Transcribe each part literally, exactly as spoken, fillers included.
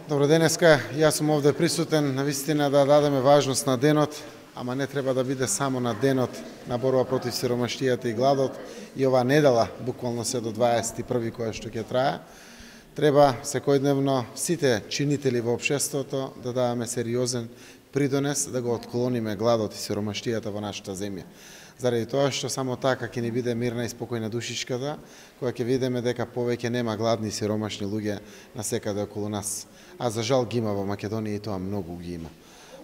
Добро денеска, јас сум овде присутен навистина да дадеме важност на денот, ама не треба да биде само на денот на борба против сиромаштијата и гладот и оваа недела, буквално се до дваесет и први која што ќе трае. Треба секојдневно сите чинители во општеството да даваме сериозен придонес да го отклониме гладот и сиромаштијата во нашата земја. Заради тоа што само така ќе ни биде мирна и спокојна душичката, која ќе видиме дека повеќе нема гладни и сиромашни луѓе насекаде околу нас. А за жал ги има во Македонија и тоа многу ги има.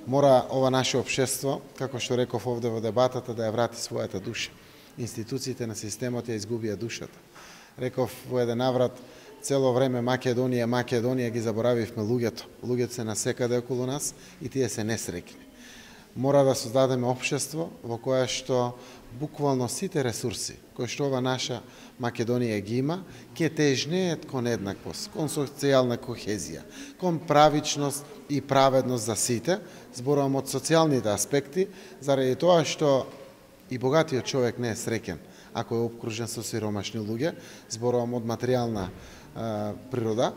Мора ова наше општество, како што реков овде во дебатата, да ја врати својата душа. Институциите на системот ја изгубија душата. Реков во еден наврат, цело време Македонија, Македонија ги заборавивме луѓето. Луѓето се насекаде околу нас и тие се несреќни. Мора да создадеме општество во кое што буквално сите ресурси кои што ова наша Македонија ги има, ќе тежнеат кон еднаквост, кон социјална кохезија, кон правичност и праведност за сите, зборувам од социјалните аспекти, заради тоа што и богатиот човек не е среќен ако е обкружен со сиромашни луѓе, зборувам од материјална а, природа.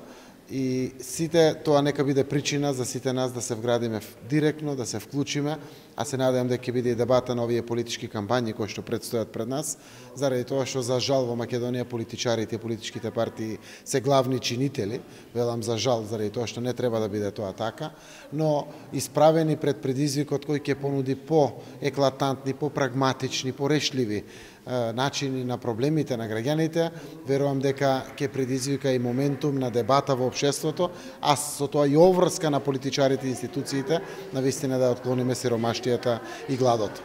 И сите тоа нека биде причина за сите нас да се вградиме директно, да се вклучиме, а се надевам дека ќе биде и дебата на овие политички кампањи кои што предстојат пред нас, заради тоа што за жал во Македонија политичарите и политичките партии се главни чинители, велам за жал заради тоа што не треба да биде тоа така, но исправени пред предизвикот кој ќе понуди по-еклатантни, по-прагматични, порешливи начини на проблемите на граѓаните, верувам дека ќе предизвика и моментум на дебата во општеството, а со тоа и обврска на политичарите и институциите, навистина да отклониме сиромаштијата и гладот.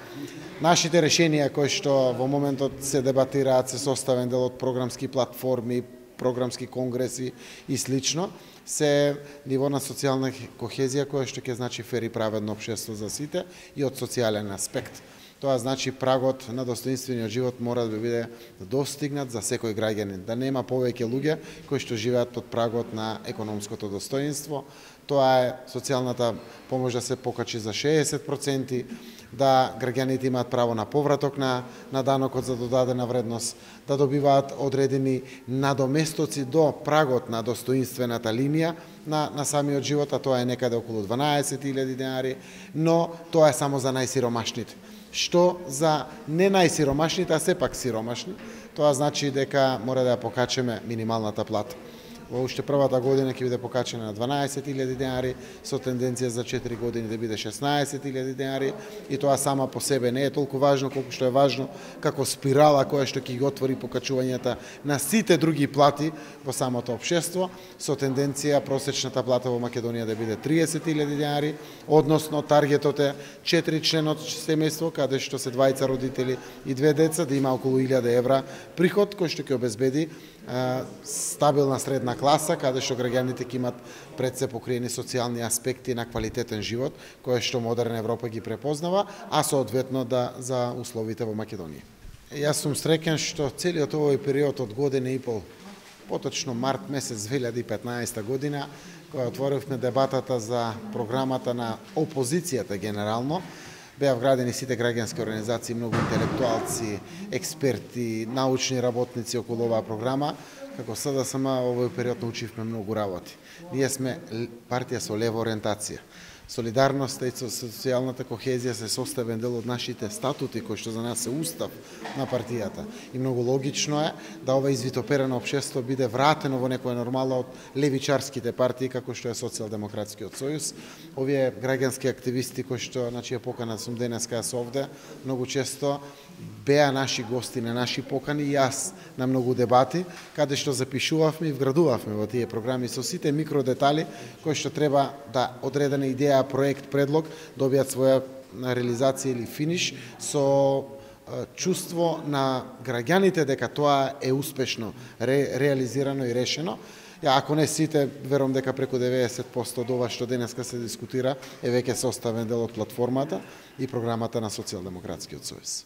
Нашите решенија кои што во моментот се дебатираат се составен дел од програмски платформи, програмски конгреси и слично, се ниво на социјална кохезија која што ќе значи фер и праведно општество за сите и од социјален аспект. Тоа значи прагот на достоинствениот живот мора да биде достигнат за секој граѓанин, да нема повеќе луѓе кои што живеат под прагот на економското достоинство. Тоа е социјалната помош да се покачи за шеесет проценти, да граѓаните имаат право на повраток на, на данокот за додадена вредност, да добиваат одредени надоместоци до прагот на достоинствената линија на, на самиот живот, а тоа е некаде околу дванаесет илјади денари, но тоа е само за најсиромашните. Што за не најсиромашните, а сепак сиромашни, тоа значи дека мора да ја покачеме минималната плата. Во уште првата година ќе биде покачена на дванаесет илјади денари, со тенденција за четири години да биде шеснаесет илјади денари, и тоа сама по себе не е толку важно колку што е важно како спирала која што ќе ги отвори покачувањата на сите други плати во самото општество, со тенденција просечната плата во Македонија да биде триесет илјади денари, односно таргетот е четири члена од семејство, каде што се двајца родители и две деца, да има околу илјада евра приход кој што ќе обезбеди а, стабилна средна класа, каде што граѓаните ќе имат пред се покриени социјални аспекти на квалитетен живот, кој што модерна Европа ги препознава, а соодветно да за условите во Македонија. Јас сум среќен што целиот овој период од година и пол, поточно март месец две илјади и петнаесета година, кога отворивме дебатата за програмата на опозицијата генерално, беа вградени сите граѓански организации, многу интелектуалци, експерти, научни работници околу оваа програма. Како СДСМ овој период научивме многу работи. Ние сме партија со лева ориентација. Солидарноста и социјалната кохезија се составен дел од нашите статути, кои што за нас е устав на партијата. И многу логично е да ова извитоперено општество биде вратено во некоја нормала од левичарските партии, како што е Социјалдемократскиот сојуз. Овие граѓански активисти кои што, значи, ја покана сум денеска јас овде, многу често беа наши гости на наши покани и јас на многу дебати, каде што запишувавме и вградувавме во тие програми со сите микродетали кои што треба да одредена идеја, проект, предлог добијат своја реализација или финиш со чувство на граѓаните дека тоа е успешно ре, реализирано и решено. Ја, ако не сите, верувам дека преку деветдесет проценти од ова што денеска се дискутира е веќе составен дел од платформата и програмата на Социјалдемократскиот сојуз.